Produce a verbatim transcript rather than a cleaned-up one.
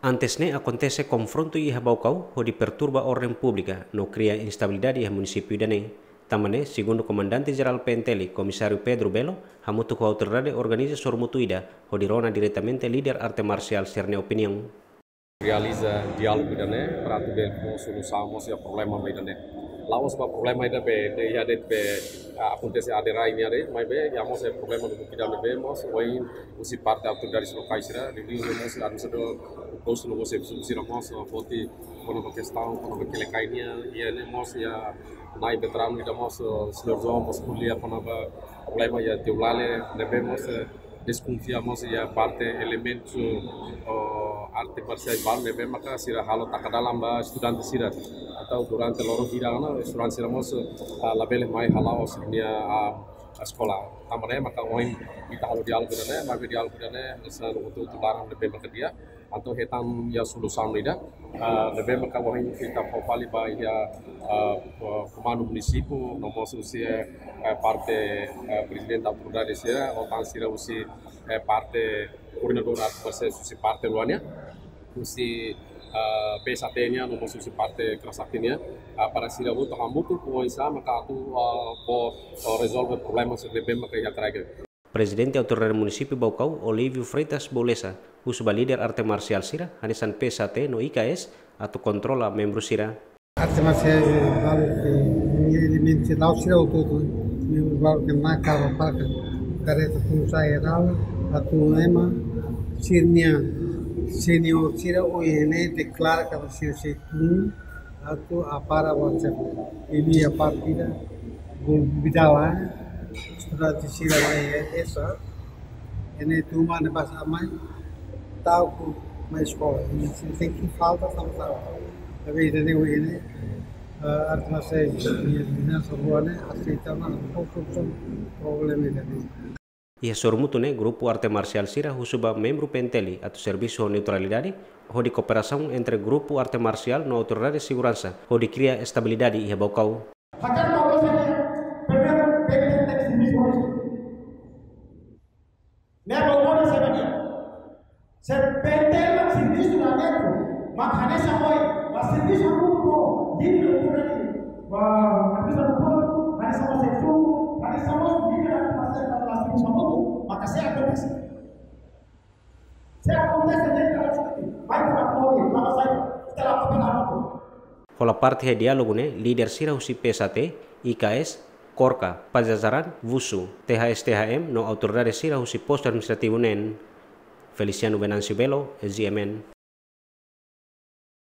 Antes ne'e akontese konfrontu iha Baucau, hodi perturba orden públika no kria instabilidade iha munisípiu ida-ne'e. Tanba ne'e, segundu Komandante Jerál P N T L, Komisáriu Pedro Belo, hamutuk ho autoridade organiza sorumutu ida, hodi rona diretamente líder arte marsiál sira-nia opiniaun. Realiza diálogu ida-ne'e, para atu bele fó solusaun mós iha problema ba ida-ne'e. La'ós ba problema ida be, de, iha de'it be, ah, akontese aderai nian de'it, maibé, iha mós iha problema no bukida ne'ebé mós, ohin husi parte autoridades lokais sira, liuliu mós administradór postu no mós husi sira mós, ah, foti, kona-ba kestaun, kona-ba Quelicai nian, iha ne'e mós, iha na'i veteranu ida mós, ah, señór João mós ko'alia kona-ba problema iha Teulale, ne'ebé mós, eh, deskonfia mós iha parte elementu, oh, arte marsiál balu ne'ebé maka sira halo taka dalan ba estudante sira. Entaun durante loron hira ona estudante sira mós, ah, labele mai hala'o sira-nia, ah, eskola. Tanba ne'e maka ohin ita halo diálogu ida-ne'e, maibé diálogu ida-ne'e hanesan hotu-hotu laran ne'ebé maka di'ak. Entaun hetan iha solusaun ida, ah, ne'ebé maka ohin ita fó fali ba iha, ah, komandu munisípiu, no mós husi, eh, parte, eh, prezidente autoridade sira, ou tan sira husi, eh, parte koordenadór arte marsiál husi parte rua nian, husi, ah, P S A T nian, no mós husi parte Kera Sakti nian, ah, para sira hotu hamutuk oinsá maka atu, ah, bele, ah, rezolve problema sira ne'ebé maka iha kraik. Prezidente Autoridade Munisípiu Baucau, Olívio Freitas Bolesa, husu ba líder arte marsiál sira, hanesan P S A T no I K S, atu kontrola membru sira. Arte marsiál balu ke, elementu la'o sira hotu-hotu, membru balu ke maka ba palka, kareta Komisáriu Jerál, atu ema, sira-nia, senior sira, ohin ne'e deklara katak sira sei tun, atu apara WhatsApp. Iha partida, gol bidala, estudante sira mai esa, ene tuma ne basa mai, tau ku mai eskola. Ene sira tenke falta sama-sama. Tapi ida-ne'e, ene, eh, arte marsiál, ene, ene, semua ne, aseita na, konstruksi, problema ida-ne'e. Iha sorumutu ne'e, grupu arte marsiál sira husu ba membru P N T L atu servisu ho neutralidade, hodi kooperasaun entre grupu arte marsiál no autoridade seguransa, hodi kria estabilidade iha Baucau. Hakan Baucau sira, primeiru, P N T L servisu ho ne'e. Ne'e Baucau sira nian. Se P N T L mak servisu la neto, mak hanesan ohin, mak servisu hamutuk ho, diri lo kurani, ba, hanesan hamutuk, hanesan mós servisu, hanesan mós diri la hanesan mós servisu hamutuk, maka sei akontese. Sei akontese, ne'e ka la siti, mai ka la kori, ka la sai, ka la kori hamutuk. Hola parte iha diálogu ne'e, líder sira husi P S A T, I K S, Korka, Pajajaran, Vusu, T H S T H M, no autoridade sira husi postu administrativu neen. Feliciano Venâncio Belo, G M N.